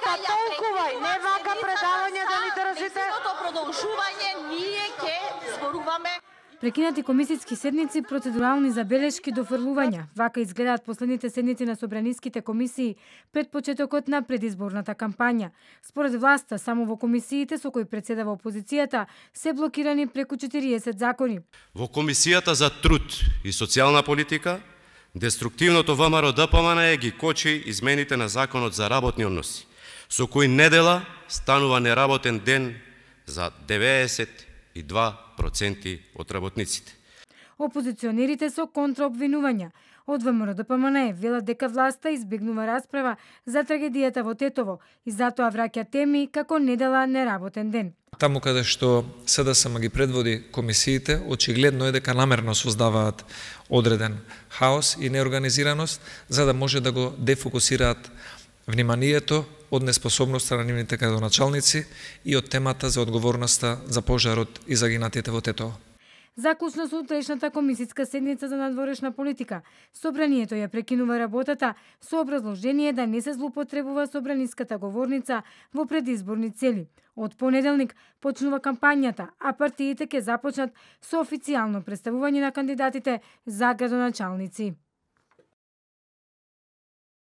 Па толкова, не вака предавање да ни држите. Неговото продолжување ние ќе зборуваме. Прекинати комисијски седници, процедурални забелешки, дофрлувања. Вака изгледаат последните седници на собраниските комисии пред почетокот на предизборната кампања. Според власта, само во комисиите со кои председава опозицијата се блокирани преку 40 закони. Во Комисијата за труд и социјална политика, деструктивното ВМРО ДПМН ги кочи измените на Законот за работни односи, со кои недела станува неработен ден за 92% од работниците. Опозиционерите со контраобвинувања од ВМРО ДПМН велат дека власта избегнува расправа за трагедијата во Тетово и затоа враќа теми како недела неработен ден. Таму каде што СДСМ ги предводи комисиите, очигледно е дека намерно создаваат одреден хаос и неорганизираност, за да може да го дефокусираат вниманието од неспособноста на нивните градоначалници и од темата за одговорноста за пожарот и загинатите во Тетово. Заклучно со утрешната комисијска седница за надворешна политика, собранието ја прекинува работата со образложение да не се злоупотребува собраниската говорница во предизборни цели. Од понеделник почнува кампањата, а партиите ќе започнат со официјално представување на кандидатите за градоначалници.